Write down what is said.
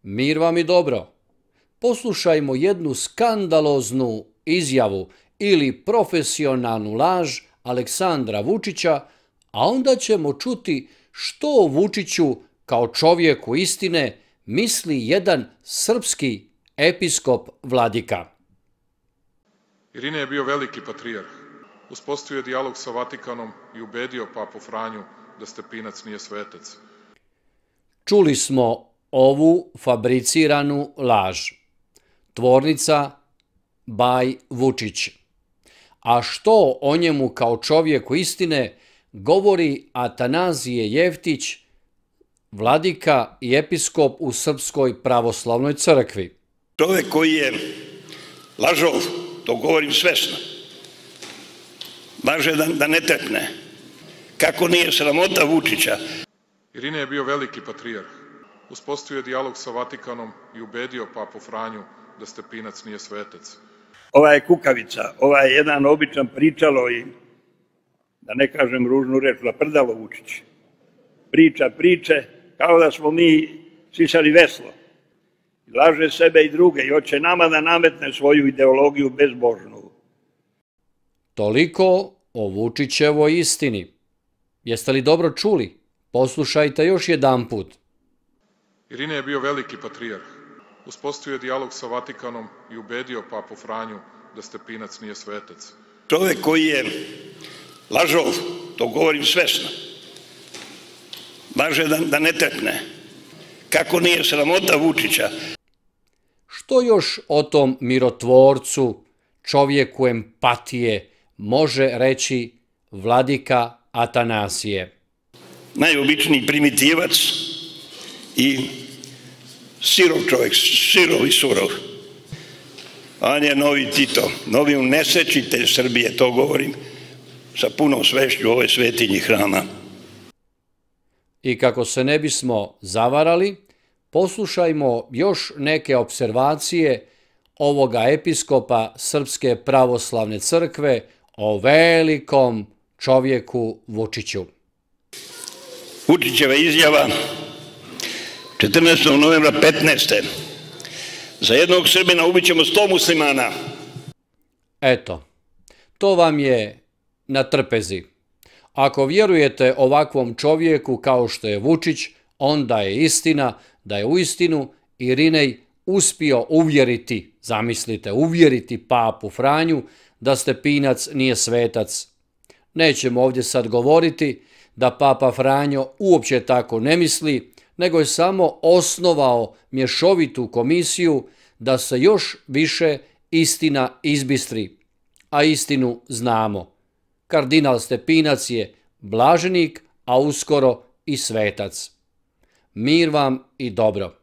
Mir vam i dobro. Poslušajmo jednu skandaloznu izjavu ili profesionalnu laž Aleksandra Vučića, a onda ćemo čuti što o Vučiću kao čovjeku istine misli jedan srpski episkop Vladika. Irinej je bio veliki patrijarh. Uspostavio je dijalog sa Vatikanom i ubedio papu Franju da Stepinac nije svetac. Čuli smo ovu fabriciranu laž. Tvornica Baj Vučić. A što o njemu kao čovjeku istine govori Atanazije Jeftić, vladika i episkop u Srpskoj pravoslavnoj crkvi. Čovjek koji je lažov, to govorim svesno, laže da ne trepne. Kako nije sramota Vučića? Irinej je bio veliki patrijarh. Uspostavio je dijalog sa Vatikanom i ubedio papu Franju da Stepinac nije svetac. Ova je kukavica, ova je jedan običan pričalo i, da ne kažem ružnu reč, laprdalo Vučić. Priča priče kao da smo mi sisali veslo. Laže sebe i druge i hoće nama da nametne svoju ideologiju bezbožnu. Toliko o Vučićevoj istini. Jeste li dobro čuli? Poslušajte još jedanput. Irinej je bio veliki patrijarh. Uspostavio je dijalog sa Vatikanom i ubedio papu Franju da Stepinac nije svetac. Čovjek koji je lažov, to govorim svesno, laže da ne trepne. Kako nije sramota Vučića? Što još o tom mirotvorcu, čovjeku empatije, može reći vladika Atanasije? Najobičniji primitivac i sirov čovjek, sirov i surov. On je novi Tito, novi unesečitelj Srbije, to govorim sa punom svešću ove svetinji hrama. I kako se ne bismo zavarali, poslušajmo još neke observacije ovoga episkopa Srpske pravoslavne crkve o velikom čovjeku Vučiću. Vučićeva izjava 14. novembra 15. Za jednog Srbina ubićemo 100 muslimana. Eto, to vam je na trpezi. Ako vjerujete ovakvom čovjeku kao što je Vučić, onda je istina da je uistinu Irinej uspio uvjeriti, zamislite, uvjeriti papu Franju da Stepinac nije svetac. Nećemo ovdje sad govoriti da papa Franjo uopće tako ne misli, nego je samo osnovao mješovitu komisiju da se još više istina izbistri. A istinu znamo. Kardinal Stepinac je blaženik, a uskoro i svetac. Mir vam i dobro.